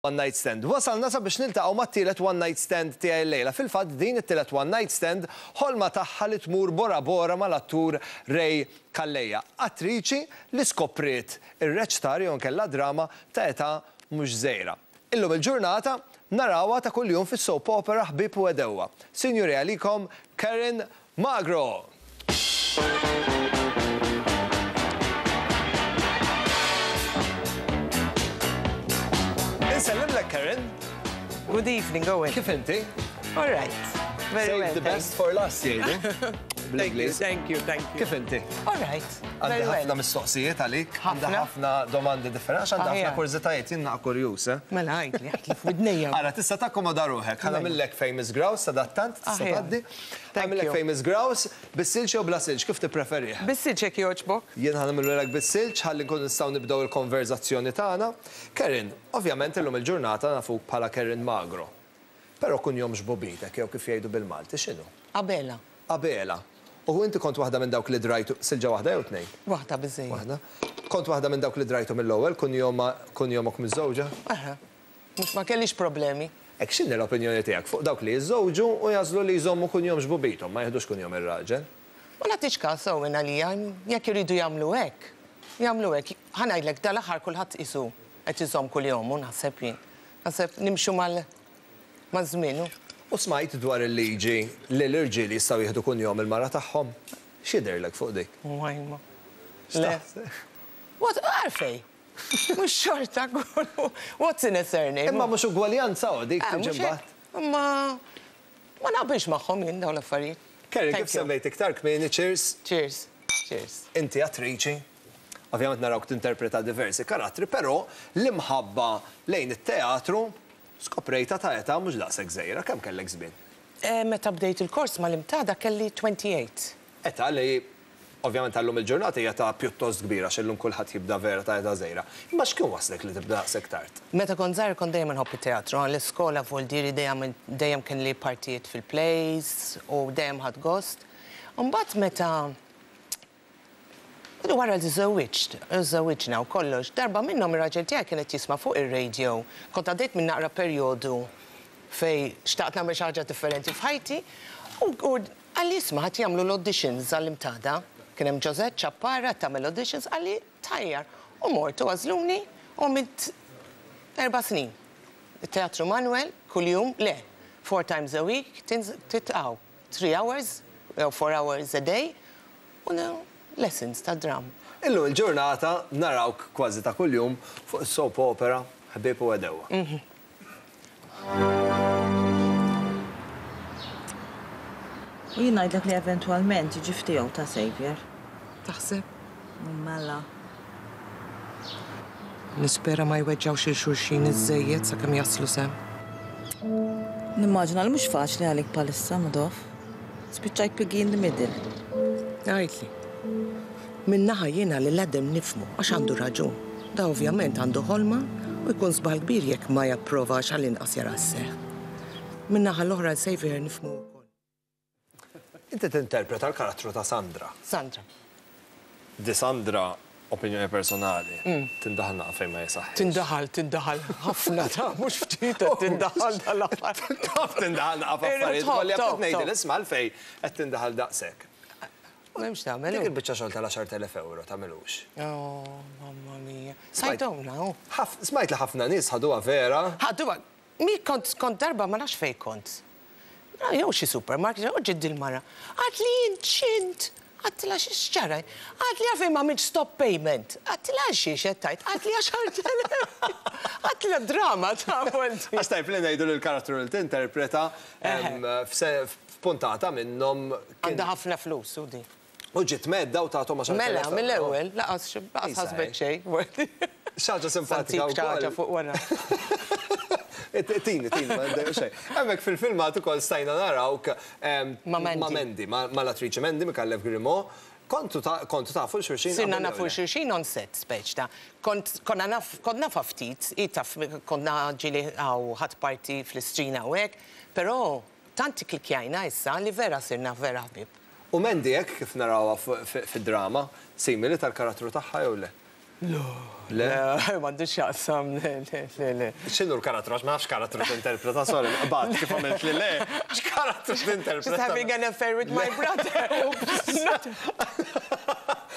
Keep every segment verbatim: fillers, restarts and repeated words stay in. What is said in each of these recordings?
One Night Stand. Wasalna sabiex niltaqgħu mat-tielet One Night Stand tiegħi llejla. Fil-fatt din it-tielet One Night Stand ħolma tagħha li tmur Bora Bora mal-attur Ray Calleja. Attriċi li skopriet ir-reċtar jew inkella drama ta' età mhux żgħira. Illum il-ġurnata narawha ta' kuljum fis-soap opera Ħbieb u Għedewwa. Sinjuri, għalikom Karen Magro. Insellimlek, Karen. Good evening, Owen. Kif inti? All right. Very Save well, the best thanks. for last, jgħidu. Thank you, thank you, thank you. Kif inti? All right. Għandi Very ħafna well. mistoqsijiet għalik, għandi Ħafna? ħafna domandi differenti, għax għandi ħafna Aħjar. kurżitajiet, jien naqa kurjuż, eh? Mela, għidli, għidli f'widnejja. Ara, tista' takkomoda ruħek, ħa Mela. nagħmillek famous grouse, sadattant, tista' Aħjar. tgħaddi. Thank Nagħmillek you. famous grouse, bis-silġ jew bla silġ, kif tippreferih? Bis-silġ jekk jogħġbok. Jien ħa nagħmillek bis-silġ, ħalli nkun nistgħu nibdew il-konverzazzjoni tagħna. Karen, ovvjament illum il-ġurnata nafuk bħala Karen Magro. Però kunjom xbubitek, jew kif jgħidu bil-Malti, x'inhu? Abela. Abela. U inti kont waħda minn dawk li drajtu, silġa waħda jew tnejn? Waħda biżejjed. Waħda. Kont waħda minn dawk li drajtu mill-ewwel, kunjoma kunjomok miż-żewġa? Aha. Mhux ma kellix problemi. Ek x'inhi l-opinjoni tiegħek fuq dawk li jiżżewġu u jagħżlu li jżommu kunjom xbubitom, ma jieħdux kunjom ir-raġel? Ma nagħtix każ Owen għalija, jekk iridu jagħmlu hekk. Jagħmlu hekk. Ħa ngħidlek dal-aħħar kulħadd isu qed iżomm kuljom u naħseb jien. Naħseb nimxu mal maż-żmien. U smajt dwar il-liġi li l-irġiel jistgħu jieħdu kunjom il-mara tagħhom. X'jidhirlek fuq dik? Wajma. Le. X'taħseb? What, għalfejn? Mhux xorta kollu. What's in a surname? Imma mhux ugwaljanza u dik Ah, tiġi mhux hekk. mbagħad. Imma ma naqbilx magħhom jien dawn l-affarijiet. Kerry, Thank kif you. semmejt iktar kmieni, cheers, Cheers. Cheers. inti attriċi. Ovvjament narawk tinterpreta diversi karattri, però l-imħabba lejn it-teatru skoprejta ta' età mhux daqshekk żgħira, kemm kellek żmien? Eh, Meta bdejt il-kors mal-Imtada kelli twenty-eight. Età li ovvjament għallum il-ġurnata hija ta' pjuttost kbira, għax illum kulħadd jibda vera ta' età żgħira. Imma x'kien waslek li tibda daqshekk tard? Meta kont żgħir kont dejjem nħobb it-teatru, l-iskola vuol dire dejjem dejjem kien li partijiet fil-plays u dejjem ħadt gost. Mbagħad meta wara li żewwiġt, żewwiġna u kollox, darba minnhom ir-raġel tiegħi kienet jisma' fuq ir-radio. Kont għaddejt minn naqra perjodu fej xtaqt nagħmel xi ħaġa differenti f'ħajti u u qalli isma' ħadd jagħmlu l-auditions għall-Imtada. Kien hemm Josette Ċappara tagħmel auditions, qalli tajjar. U mort u għażluni u għamilt erba' snin. Teatru Manuel, kuljum, le, four times a week, titqaw, three hours, jew four hours a day, u lessons ta' dram. Illum il-ġurnata narawk kważi ta' kuljum fuq is-soap opera Ħbieb u Għedewwa. U jien ngħidlek li eventwalment jiġi ftiegħu ta' Xavier. Taħseb? Mela. Nispera ma jweġġawx il-xulxin iż-żejjed sakemm jaslu sem. Nimmaġina li mhux faċli għalik bħalissa, Madoff. Spiċċajt piggy in the middle. Għidli. Min-naħa jiena li l-Adam nifhmu għax għandu raġun. Da ovvjament għandu ħolma u jkun żball kbir jekk ma japprovax għall-inqas jara sseħħ. Min-naħa l-oħra Xavier nifhmu wkoll. Inti tinterpreta l-karattru ta' Sandra. Sandra. Di Sandra, opinjoni personali, tindaħal naqa fejn ma jisaħħ. Tindaħal, tindaħal, ħafna ta' mhux ftit qed tindaħal dal-aħħar. Taf tindaħal naqa f'affarijiet, Top, kolli top, qed ngħidil top. isma' għalfejn qed tindaħal daqshekk. M'hemmx tagħmel. Dik il-biċċa xogħol tal-għaxar elef euro tagħmilux. Oh, mamma mia. Smajthom now. Smajt li ħafna nies ħaduha vera. Ħaduha, mi kont kont darba ma nafx fejn kont. Jew xi supermarket, u ġiet il-mara. Għad li int. Għedtilha x'ġara. Għad li għalfejn ma għamiltx stop payment. Għedtilha xiex qed tgħid. Għad li għaxar elef. Għedtilha drama ta' volti. Għax tajb li ngħidu li l-karattru li tinterpreta f'puntata minnhom. Għandha ħafna flus, u di. U ġiet medda u tagħthom għaxar Mela, elef euro. mill-ewwel, laqas laqas ħasbet xejn. Xi ħaġa simpatika Santik xi ħaġa wkoll. fuq wara. Tini, tini, ma ndejju xejn. Hemmhekk fil-filmat ukoll stajna narawk Ma' Mandy. ma' Mandy, mal-attriċi Mandy Micallef Grimaud. Kontu kontu tafu xulxin? Sirna qabel nafu jew le? xulxin on set, speċ ta' kont konna naf, kont nafa ftit, i taf, konna ġieli għaw ħadd parti fl-istrina u hekk, però tant klikjajna issa li vera sirna vera ħbieb. U Mandy hekk kif narawha fid-drama, simili tal-karattru tagħha jew le? Le. Le, m'għandux x'jaqsam, le, le, le, le. X'inhu l-karattru? Għax ma nafx karattru tinterpreta, sorry, bat kif għamilt li le. X'karattru tinterpreta? Just having an affair with my brother.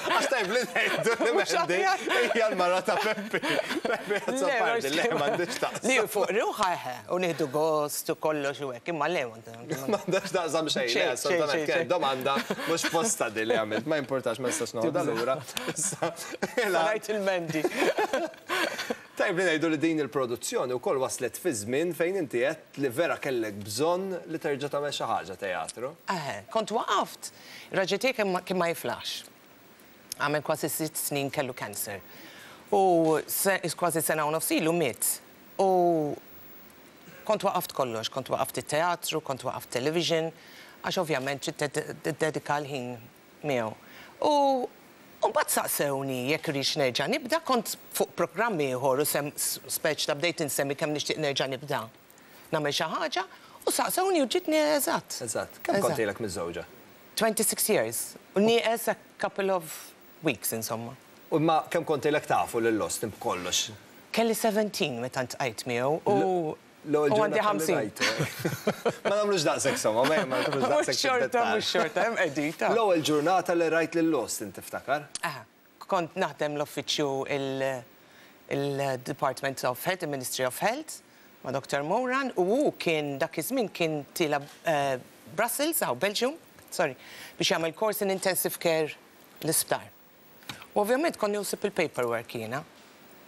Għax tajb li ngħidu li Mandy hija l-mara ta' Peppi. Peppi Azzopardi, le m'għandix taqsam. Li fuq ruħa eħe, u nieħdu gost u kollox u hekk, imma le m'għandax taqsam xejn, le, assolutament kienet domanda mhux posta di li għamilt, ma importax ma nistax noħodha lura. Rajt il-Mandy. Tajb li ngħidu li din il-produzzjoni wkoll waslet fi żmien fejn inti għedt li vera kellek bżonn li terġa' tagħmel xi ħaġa teatru. Eħe, kont waqaft. Raġel tiegħi kien ma jiflax. Għamel kważi sitt snin kellu cancer. U kważi sena u nofs ilu miet. U kont waqaft kollox, kont waqaft it-teatru, kont waqaft television, għax ovvjament trid tiddedika l-ħin miegħu. U mbagħad saqsewni jekk rridx nerġa' nibda, kont fuq programm ieħor u sem speċ ta' bdejt insemmi kemm nixtieq nerġa' nibda. Nagħmel xi ħaġa u saqsewni u ġitni eżatt. Eżatt. Kemm kont ilek miżżewġa? twenty-six years. U nieqes a couple of weeks, insomma. U ma kemm kont ilek tafu lil Austin b'kollox? Kelli seventeen meta ntqajt miegħu u L-ewwel u għandi ġurnata li ħamsin. rajtu. Ma nagħmlux daqshekk somma, ma nagħmlux daqshekk Mhux xorta, fid-dettall. mhux xorta, hemm qegħdin. L-ewwel ġurnata li rajt lil Austin tiftakar? Aha, kont naħdem l-uffiċċju il-Department of Health, il-Ministry of Health, ma' Doctor Moran, u hu kien dak iż-żmien kien tila Brussels, aw Belgium, sorry, biex jagħmel course in intensive care l-isptar. U ovvjament konni usib il-paperwork jiena.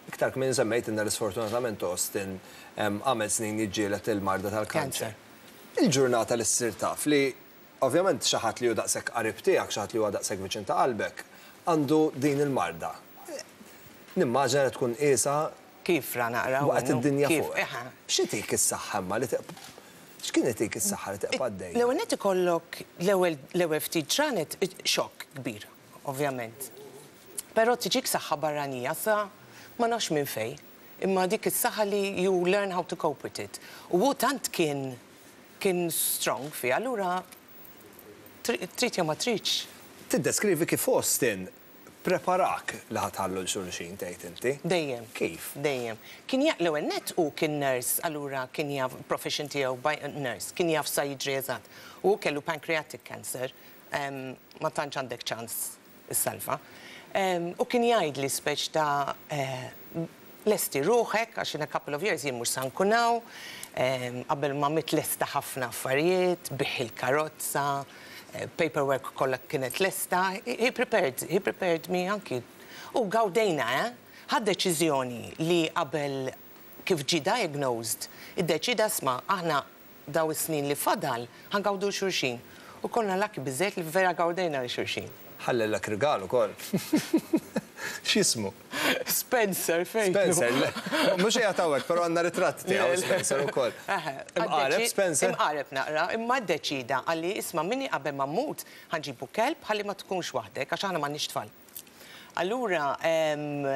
Iktar kmin semmejt inna li sfortunatament Austin għamel snin jiġġieled il-marda tal-kanċer. Kanċer. Il-ġurnata li ssir taf li ovvjament xi ħadd li hu daqshekk qarib tiegħek, xi ħadd li huwa daqshekk viċin ta' qalbek, għandu din il-marda. Nimmaġina li tkun qiesha Kif ra naqra waqt minnu? id-dinja Kif? fuq. Eħe. X'itik is-saħħa imma li teq- x'kien itik is-saħħa li teqpa' għaddejja? L-ewwel nett ikollok l-ewwel l-ewwel ftit ġranet xokk kbir, ovvjament. Però tiġik saħħa barranija sa ma nafx minn fej, imma dik is-saħħa li you learn how to cope with it. U hu tant kien kien strong fi, allura trid jew ma tridx. Tiddeskrivi kif Austin preparak li ħatħallu l-xulxin tgħid inti? Dejjem. Kif? Dejjem. Kien jaf l-ewwel nett u kien nurse, allura kien jaf profession tiegħu by nurse, kien jaf sa jiġri eżatt. U kellu pancreatic cancer, em, ma tantx għandek ċans issalva. Em, u kien jgħidli speċ ta' eh, lesti ruħek, għax in a couple of years jien mhux sa nkun hawn, em, qabel ma miet lesta ħafna affarijiet, biegħ il-karozza, eh, paperwork kollha kienet lesta, he prepared, he prepared me anki. U gawdejna, eh? Ħad deċiżjoni li qabel kif ġi diagnosed, iddeċida sma' aħna daw is-snin li fadal ħangawdu xulxin. U konna lucky biżejt li vera gawdejna li xulxin. Ħallilek rigal ukoll. X'ismu? Spencer, fejn? Spencer, le, mhux qiegħed hawnhekk, però għandna ritratt tiegħu Spencer ukoll. Eħe, Imqareb għaddeċi- Spencer? Imqareb naqra, imma ddeċida għalli isma' minni qabel ma mmut ħanġibu kelb ħalli ma tkunx waħdek għax aħna m'għandniex tfal. Allura, em,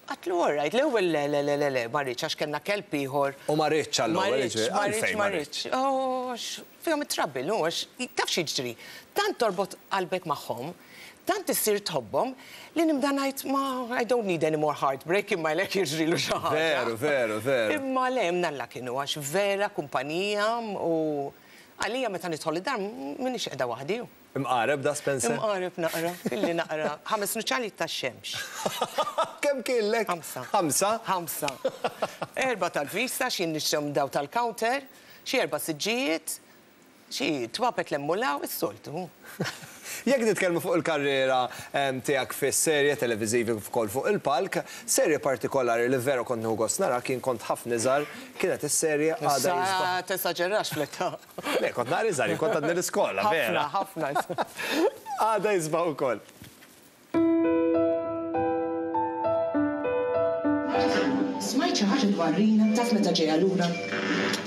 għatlu all right, l-ewwel le, le, le, le, le, ma rridx għax kellna kelb ieħor. U ma rridx għall-ewwel, Ma rridx, jiġifieri, ma għalfejn rridx, ma ma rridx. Oh, għax fihom it-trouble, u għax taf x'jiġri. Tant torbot qalbek magħhom, tant issir tħobbhom li nibda ngħid ma I don't need any more heartbreak imma lek jiġrilu xi ħaġa. Veru, veru, veru. Imma le mnalla kienu għax vera kumpanija u għalija meta nidħol id-dar m'iniex qiegħda waħdi. Imqareb da Spencer? Imqareb naqra, filli naqra. Ħames nuċċali tax-xemx. Kemm kienlek? Ħamsa. Ħamsa? Ħamsa. Erba tal-vista, xi nixtrom daw tal-counter, xi erba siġġijiet, xi twapet l-emmulaw, is-soltu. Jekk nitkellmu fuq il-karriera, em, tiegħek fis-serje televiżivi kif ukoll fuq il-palk, serje partikolari li vera kont nieħu gost nara kien kont ħafna iżgħar, kienet is-serje Għada Issa Jisbaħ. Tesaġerax fl-età. Le, kont naqra iżgħar, kont għadni l-iskola, vera. Ħafna, ħafna. Għada Jisbaħ ukoll. Smajt xi ħaġa dwar Rina, taf meta ġejja lura?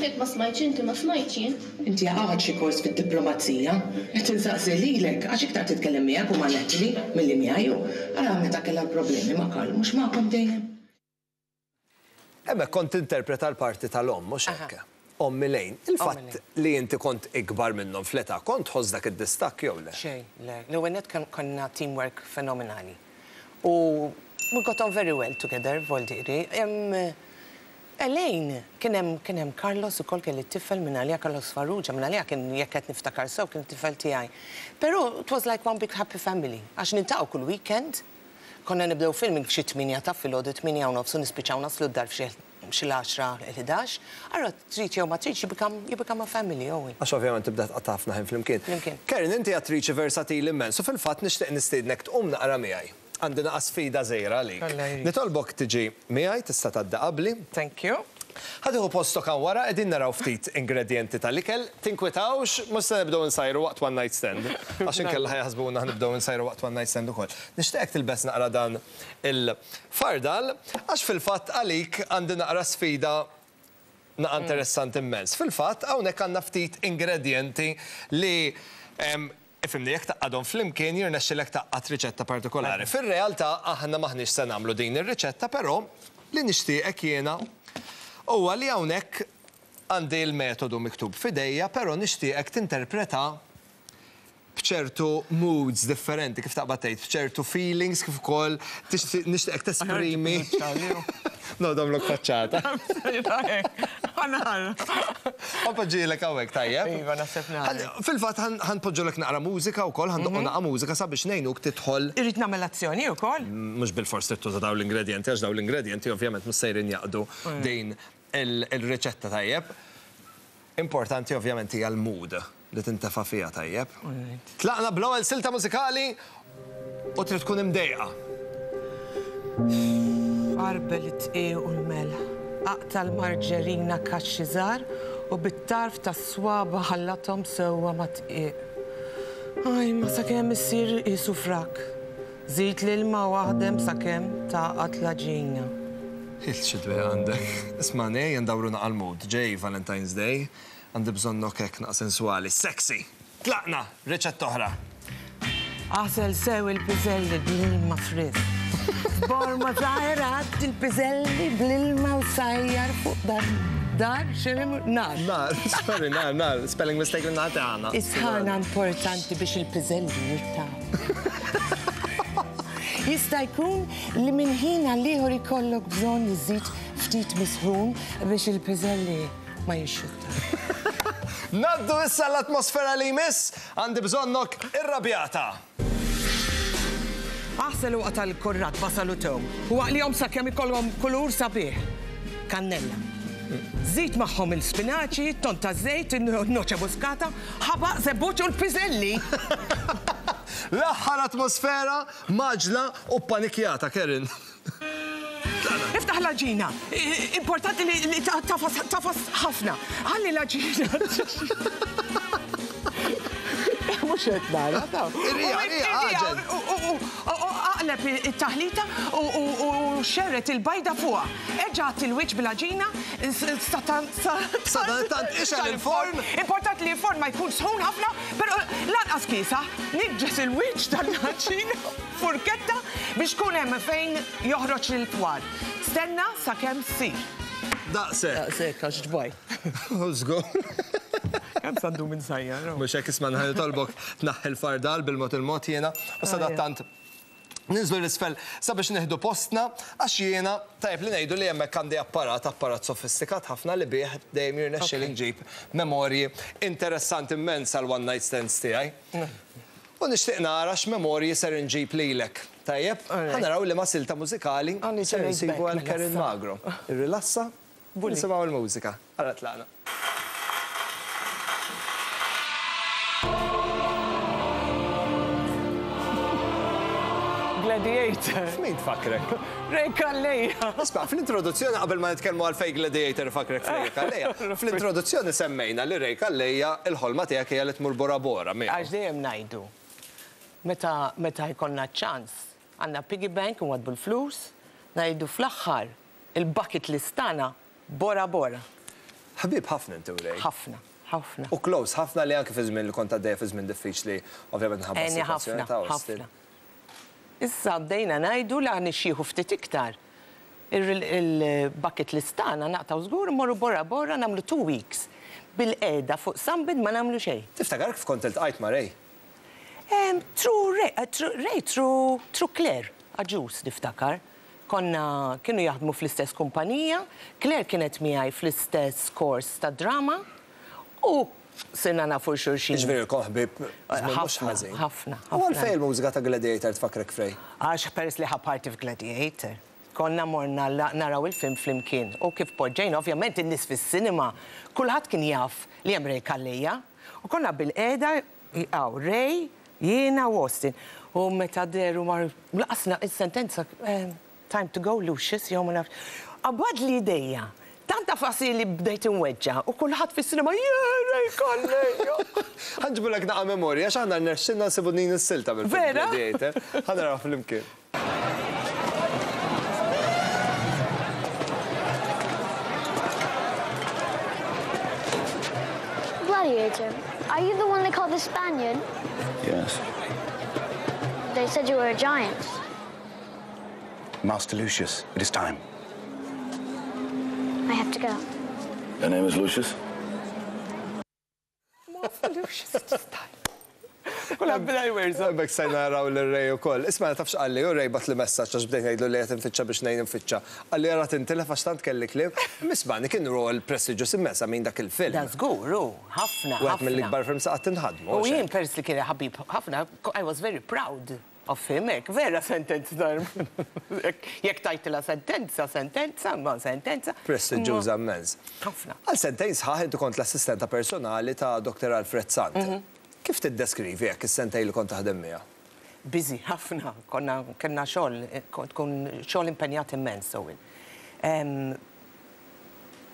Jekk ma smajtx inti ma smajtx jien. Inti għad xi kors fid-diplomazija. Qed insaqsi lilek għax iktar titkellem miegħek u ma' Natalie milli miegħi. Ara meta kellha problemi ma' Karl mhux magħkom dejjem. Hemmhekk kont tinterpreta l-parti tal-omm, mhux hekk. Omm Elaine, il-fatt Elaine. li inti kont ikbar minnhom fl-età, kont tħoss dak id-distakk jew le? Xejn, le. L-ewwel nett konna teamwork fenomenali. U We got on very well together, voldiri. Elaine, kien hemm kien hemm Carlos ukoll kelli tifel minn għalija, Carlos Farrugia, minn għalija kien jekk qed niftakar sew kien tifel tiegħi. Però it was like one big happy family. Għax niltaqgħu kull weekend, konna nibdew filming f'xi tmienja ta' filgħodu, tmienja u nofs, u nispiċċaw naslu d-dar f'xi xi l-għaxra, l-ħdax. Allura trid jew ma tridx, you become, you become a family, Owen. Għax ovvjament tibda tqatta' ħafna ħin flimkien. Flimkien. Karen, inti attriċi versatili immens, u fil-fatt nixtieq nistiednek tqum naqra miegħi. Għandi naqa sfida żgħira għalik. Alla jrid. Nitolbok tiġi miegħi, tista' tgħaddi qabli. Thank you. Ħa tieħu postok hawn wara, qegħdin naraw ftit ingredienti tal-ikel. Tinkwitawx, mhux se nibdew insajru waqt one night stand. Għax inkella ħa jaħsbuna nibdew insajru waqt one night stand ukoll. Nixtieqek tilbes naqra dan il-fardal, għax fil-fatt għalik għandi naqra sfida naqa interessanti immens. Fil-fatt hawnhekk għandna ftit ingredienti li em, ifhimni, jekk tgħaqqadhom flimkien jirnexxilek tgħaqqad riċetta partikolari. Fir-realtà aħna maħniex se nagħmlu din ir-riċetta, però li nixtieqek jiena huwa li hawnhekk għandi l-metodu miktub f'idejja, però nixtieqek tinterpreta b'ċertu moods differenti, kif taqbad tgħid, b'ċertu feelings, kif ukoll tixtieq- nixtieqek tesprimi. No, domlok faċċata. Ħa npoġġilek hawnhekk, tajjeb? Iva, naħseb nagħmel. Ħan- Fil-fatt ħa npoġġulek naqra mużika wkoll, ħa ndoqqu naqra mużika sabiex ngħinuk tidħol Irrid nagħmel azzjoni wkoll. Mhux bil-fors trid tuża dawn l-ingredienti, għax dawn l-ingredienti ovvjament mhux sejrin jaqdu din il- il-riċetta, tajjeb. Importanti ovvjament hija l-mood li tintefa' fiha, tajjeb. Tlaqna bl-ewwel silta mużikali u trid tkun imdejqa. Għarbel it-dqiq u l-melħ. Aqta' l-marġerina kaxxi żgħar u bit-tarf tas-swaba ħallathom sewwa mad-dqiq. Aj, ma sakemm issir qisu frak. Żid l-ilma u aħdem sakemm tagħqad l-għaġina. Il xidwe għandek. Isma' nej, ndawru naqa l-mood. Ġej Valentine's Day, għandi bżonnok hekk naqa sensuali. Sexy! Tlaqna, riċetta oħra. Aħsel sew il-piżelli bl-ilma frisk. Borma żgħira għaddi l-piżelli bl-ilma u sajjar fuq dar. Dar, x'inhu? Nar. Nar, sorry, nar, nar, spelling mistake li nagħti għana. Is-sħana importanti biex il-piżelli jirtaw. Jista' jkun li minn ħin għal ieħor ikollok bżonn iżid ftit misħun biex il-piżelli ma jixxutta. Ngħaddu issa l-atmosfera li jmiss, għandi bżonnok irrabjata. Aħsel u aqta' l-kurrat, basal u tewm. U aqlihom sakemm ikollhom kulur sabiħ. Kannella. Żid magħhom il-spinaċi, ton ta' żejt, noċe muskata, ħabaq, żebbuġ u l-piżelli. L-aħħar atmosfera mgħaġġla u panikjata, Karen. Iftaħ l-għaġina. Importanti li li tagħfas tagħfas ħafna. Ħalli l-għaġina. Mhux qed nara, ta' Irrija, irrija, għaġel. Aqleb it-taħlita u xerred il-bajda fuqha. Erġa' il-wiċċ bil-għaġina, Sadanittant ixgħel il-forn. Importanti li l-forn ma jkun sħun ħafna, però lanqas kiesaħ, niġġes il-wiċċ tal-għaġina furketta biex kun hemm fejn joħroġ il-twar. Stenna sakemm ssir. Daqshekk. Daqshekk għax ġbaj. Żgur. Kemm sa ndum insajjar? Mhux hekk, isma' ħa nitolbok tneħħi l-fardal bil-mod il-mod jiena u sadattant ninżlu 'l isfel sabiex nieħdu postna, għax jiena tajb li ngħidu li hemmhekk għandi apparat, apparat sofistikat ħafna li bih dejjem jirnexxi li nġib memorji interessanti immens għal one night stands tiegħi. U nixtieq nara x'memorji ser inġib lilek. Tajjeb, ħa naraw li ma silta mużikali ser insibu għal Karen Magro. Irrilassa, nisimgħu l-mużika. Ara tlaqna. Gladiator. F'min tfakrek? Ray Calleja. Isma', fl-introduzzjoni qabel ma nitkellmu għalfejn Gladiator fakrek f'Ray Calleja, fl-introduzzjoni semmejna li Ray Calleja il-ħolma tiegħek hija li tmur Bora Bora. Għax dejjem ngħidu. Meta meta jkollna ċans, għandna piggy bank u għadbu l-flus, ngħidu fl-aħħar il-bucket list tagħna Bora Bora. Ħabib ħafna inti u Ray. Ħafna. Ħafna. U close ħafna li anke fi żmien li kont għaddejja fi żmien diffiċli, ovvjament nħabba s-sitwazzjoni ta' Austin. Issa bdejna ngħidu la nixjieħu ftit iktar. Il-bucket list tagħna naqtaw żgur mmorru Bora Bora nagħmlu two weeks. Bil-qeda fuq sunbed ma nagħmlu xejn. Tiftakar kif kont iltqajt ma' Ray? Through Ray, Ray, through, through Claire, Agius niftakar. Konna kienu jaħdmu fl-istess kumpanija, Claire kienet miegħi fl-istess kors ta' drama u sirna nafu xulxin. Ġifieri ilkom ħbieb mhux ħażin. Ħafna. U għalfejn il-mużika ta' Gladiator tfakkrek f'Ray? Għax peress li ħa parti f'Gladiator. Konna morna naraw il-film flimkien u kif poġġejna, ovvjament in-nies fis-sinema, kulħadd kien jaf li hemm Ray Calleja. U konna bil-qiegħda hawn Ray, jiena u Austin. U meta dehru mar laqasna is-sentenza time to go Lucius, jew ma nafx. Qabadli idejja. Tant tafasi li bdejt inweġġa u kulħadd fis-sinema Ray Calleja. Ħa nġibulek naqra memorja, għax aħna rnexxilna nsibu din is-silta bil-film Vera? Gladiator. Ħa naraw flimkien. Gladiator, are you the one they call the Spaniard? Yes. They said you were a giant. Master Lucius, it is time. I have to go. Your name is Lucius? Lucius, it's time. Kulħadd beda jwerżaq. Hemmhekk stajna naraw lil Ray ukoll. Isma' tafx qalli, u Ray bagħatli messaġġ għax bdejt ngħidlu li qed infittxa biex ngħin infittxa. Qalli ara tintilef għax tant kelli kliem. Mismani kien rol prestiġjuż immens minn dak il-film. Da żgur, hu, ħafna. Wieħed mill-ikbar films qatt inħadmu. U jien peress li kien ħabib ħafna, I was very proud of him, hekk, vera sentenza dar. Jekk tajtila sentenza, sentenza, ma sentenza. Prestiġjuża immens. Ħafna. Għal sentejn sħaħ inti kont l-assistenta personali ta' Dr. Alfred Sant. Kif tiddeskrivi jekk is-sentejn li kont taħdem miegħu? Busy, ħafna, konna kellna xogħol, kont tkun xogħol impenjat immens, so.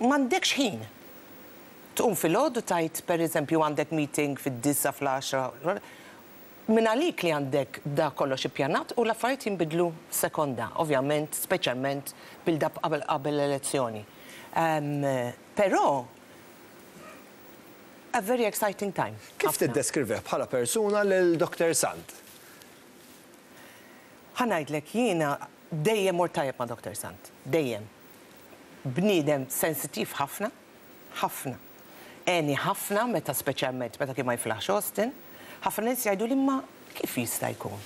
M'għandekx ħin. Tqum filgħodu tajt, per eżempju, għandek meeting fid-disgħa fl-għaxra. Min għalik li għandek da kollox ippjanat u l-affarijiet jinbidlu sekonda, ovvjament, speċjalment build-up qabel qabel l-elezzjoni. Però a very exciting time. Kif Ħafna. tiddeskrivih bħala persuna lil Dr. Sant? Ħa ngħidlek jiena dejjem mort tajjeb ma' Dr. Sant, dejjem. Bniedem sensitiv ħafna, ħafna. Għeni ħafna meta speċjalment meta kien ma jiflaħx Austin, ħafna nies jgħidu li ma kif jista' jkun?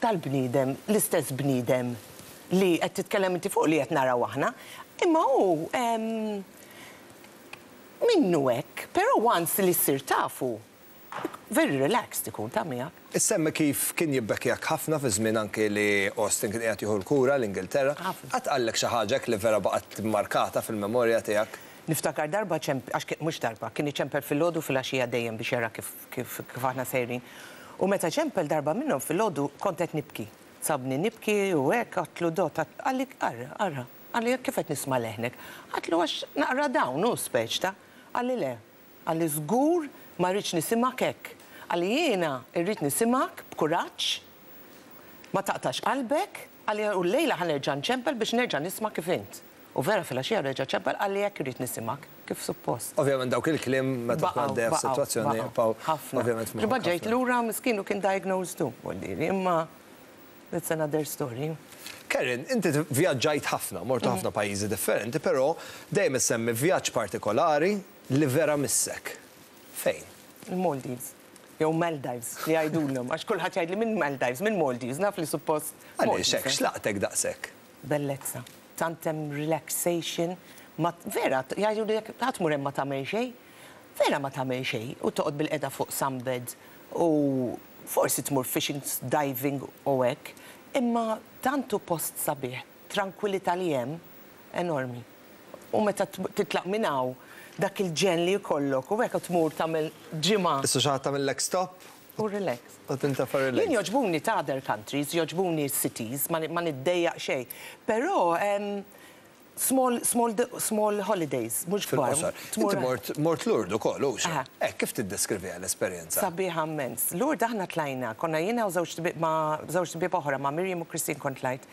Tal-bniedem, l-istess bniedem li qed titkellem inti fuq li qed naraw aħna, imma hu em, minnu hekk, però once li ssir tafu, very relaxed ikun ta' miegħek. Issemmi kif kien jibbekkjak ħafna fi żmien anke li Austin kien qiegħed jieħu l-kura l-Ingilterra. Ħafna. Qatt qallek xi ħaġa li vera baqgħet markata fil-memorja tiegħek? Niftakar darba ċemp, għax kien- mhux darba, kien iċempel filgħodu filgħaxija dejjem biex jara kif, kif, kif aħna sejrin. U meta ċempel darba minnhom filgħodu kont qed nibki. Sabni nibki u hekk għedtlu Dott, qalli ara, ara, qalli kif qed nisma' leħnek. Għedtlu għax naqra dawn hu speċ ta' qalli le, qalli żgur ma rridx nisimgħek hekk. Qalli jiena rrid nisimgħek b'kuraġġ, ma taqtax qalbek, qalli u llejla ħa nerġa' nċempel biex nerġa' nisma' kif int. U vera filgħaxija reġa' ċempel qalli hekk irrid nisimgħek kif suppost. Ovvjament dawk il-kliem meta tkun għaddejja f'sitwazzjoni jibqgħu ħafna. ovvjament f'moħħok Ġiba ġejt ħafna. lura miskin u kien diagnosed tu, vuol imma that's another story. Karen, inti vjaġġajt ħafna, mortu ħafna pajjiżi differenti, però dejjem issemmi vjaġġ partikolari li vera missek. Fejn? Il-Maldives. Jew Maldives, li jgħidulhom, għax kulħadd jgħidli minn Maldives, minn Maldives, naf li suppost. Għaliex Maldives, hekk, eh? x'laqtek daqshekk? Bellezza. Tant hemm relaxation, ma vera, jgħidu li jekk ħadd mur hemm ma tagħmel xejn, vera ma tagħmel xejn u toqgħod bil-qeda fuq sunbed u forsi tmur fishing, diving u hekk, imma tantu post sabiħ, tranquillità li hemm enormi. U meta titlaq minn hawn dak il-ġen li jkollok u hekk tmur tagħmel ġimgħa Issa xi ħadd tagħmillek stop u relax. u tintefa' relax. Jien jogħġbuni ta' other countries, jogħġbuni cities, ma ma niddejjaq xejn. Però em, small, small, small holidays, mhux kbar. Fil-qosor. Tmur- Inti mort mort Lourdes ukoll, hux? Aha. Eh, kif tiddeskriviha l-esperjenza? Sabiħa immens. Lourdes aħna tlajna, konna jiena u żewġ tbib ma' żewġ tbib oħra ma' Miriam u Christine kont tlajt.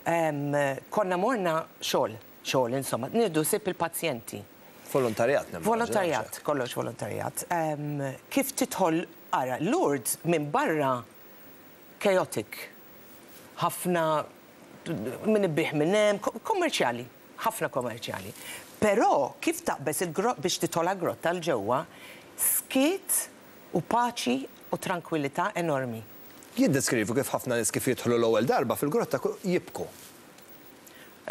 Em, Konna morna xogħol, xogħol insomma, nieħdu ħsieb il-pazjenti. Volontarjat nimmaġina, Volontarjat, kollox volontarjat. Em, Kif tidħol, ara, Lourdes minn barra chaotic. Ħafna min ibigħ minn hemm, ko- kommerċjali, ħafna kommerċjali. Però kif taqbeż il-grot biex tidħol grotta 'l ġewwa, skiet u paċi u tranquillità enormi. Jiddeskrivu kif ħafna nies kif jidħlu l-ewwel darba fil-grotta ku- jibku.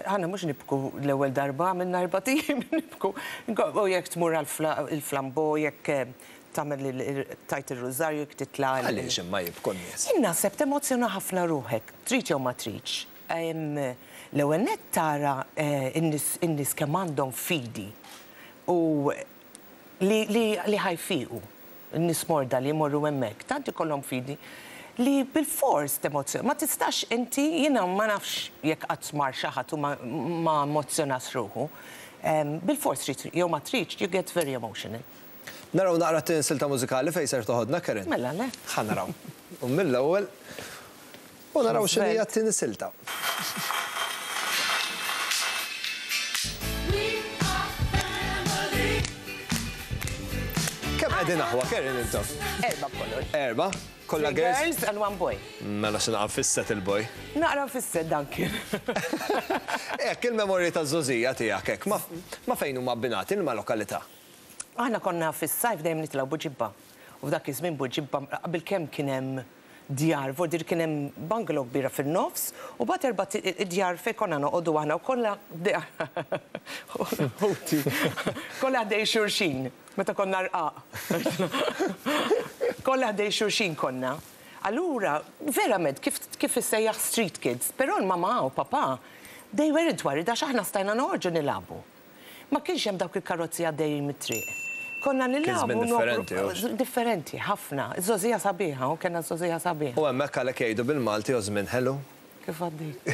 Aħna mhux nibku l-ewwel darba, għamilna erbat ijiem nibku. U jekk tmur għall-flambo, jekk tagħmel tajt ir-rużarju, jekk titla'. Għaliex imma jibku n-nies? Jien naħseb temozzjona ħafna ruħek, trid jew ma tridx. L-ewwel nett tara n-nies kemm għandhom fidi u li ħa jfiqu, n-nies morda li jmorru hemmhekk, tant ikollhom fidi li bil-fors temozzjona. Ma tistax inti, jiena ma nafx jekk qatt mar xi ħadd u ma emozzjonax ruħu. Bil-fors trid jew ma tridx, you get very emotional. Naraw naqra t-silta mużikali fejn ser toħodna, Karen. Mela le. Ħa naraw. U mill-ewwel u naraw x'inhi t-tieni silta. Kemm qegħdin aħwa, Karen, intom? Erba' b'kollox. Erba'? Kollha girls? Girls and one boy. Mela xi naqra fisset il-boy. Naqra fisset dan kien. Hekk il-memorji taż-żgħożija tiegħek hekk ma fejn huma abbinati ma' lokalità? Aħna konna fis-sajf dejjem nitilgħu Buġibba. U f'dak iż-żmien Buġibba qabel kemm kien hemm djar, vordir kien hemm bungalow kbira fin-nofs u bagħad erba' djar fejn konna noqogħdu aħna u kollha ħuti. Kollha ħdej xulxin meta konna rqaq. Kollha ħdej xulxin konna. Allura, verament, kif kif issejjaħ street kids, però l-mamà u papà, they weren't worried għax aħna stajna noħorġu nilagħbu. Ma kienx hemm dawk il-karozzi għaddejjin mit-triq. Konna nilagħbu differenti, hux? Differenti, ħafna. Iż-żgħożija sabiħa, u kellna żgħożija sabiħa. U hemmhekk għalhekk jgħidu bil-Malti u żmien ħelu. Kif għaddejt?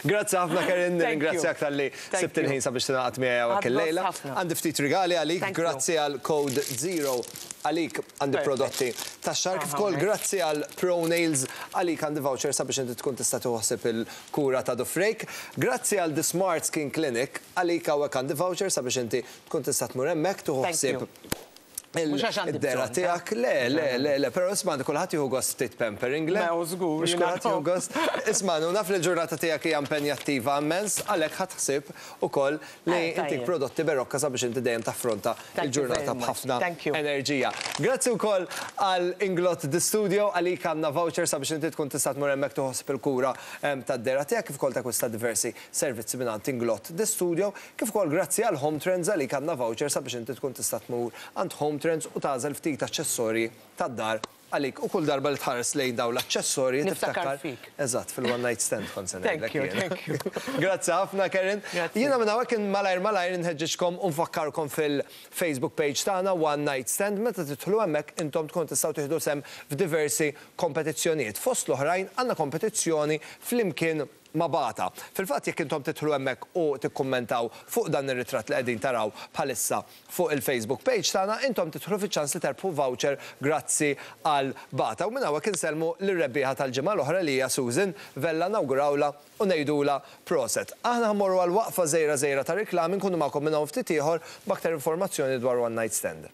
Grazzi ħafna, Karen, Thank you. nirringrazzjak talli Thank sibt il-ħin you. sabiex tingħaqad miegħi hawnhekk Għad illejla. gost ħafna. Għandi ftit rigali għalik, Thank you. grazzi għal Code Zero għalik għandi Perfect. prodotti tax-xahar, kif ukoll Aha, grazzi għal Pro Nails għalik għandi voucher sabiex inti tkun tista' tieħu il-kura ta' dufrejk. Grazzi għal The Smart Skin Clinic għalik hawnhekk għandi voucher sabiex inti tkun tista' tmur hemmhekk tieħu Thank ħsieb you. Mhux għax għandi id-dera bżonn, tiegħek. Le, le, le, le, però isma' kulħadd jieħu gost ftit pampering, le? Mela, żgur, Mhux jiena kulħadd jieħu gost. Isma' naf li l-ġurnata tiegħek hija impenjattiva immens, għalhekk ħadd ħsieb ukoll li Eh, intik tajjeb. prodotti berokka sabiex inti dejjem taffronta Thank you il-ġurnata very much. b'ħafna Thank you. enerġija. Grazzi wkoll għal Inglot The Studio għalik għandna voucher sabiex inti tkun tista' tmur hemmhekk tieħu il-kura em, tad-dera tiegħek kif ukoll takkwista diversi servizzi mingħand Inglot The Studio, kif ukoll grazzi għal Home Trends għalik għandna voucher sabiex inti tkun tista' tmur għand Home Trends u tagħżel ftit aċċessorji tad-dar għalik u kull darba li tħares lejn dawn l-aċċessorji Niftakar tiftakar fik. Eżatt, fil-one night stand kont se Thank ngħidlek you, jiena. thank you. Grazzi ħafna, Karen. Grazzi. Jiena minn hawnhekk malajr malajr inħeġġiġkom u nfakkarkom fil-Facebook page tagħna One Night Stand meta tidħlu hemmhekk intom tkun tistgħu tieħdu sehem f'diversi kompetizzjonijiet. Fost l-oħrajn għandna kompetizzjoni flimkien ma' Bata. Fil-fatt jekk intom tidħlu hemmhekk u tikkummentaw fuq dan ir-ritratt li qegħdin taraw bħalissa fuq il-Facebook page tagħna, intom tidħlu fiċ-ċans li terbħu voucher grazzi għal Bata. U minn hawnhekk insellmu lir-rebbieħa tal-ġimgħa l-oħra li hija Susan Vella nawgurawla u ngħidula proset. Aħna ħa mmorru għal waqfa żgħira żgħira ta' riklami nkunu magħkom minn hawn ftit ieħor b'aktar informazzjoni dwar One Night Stand.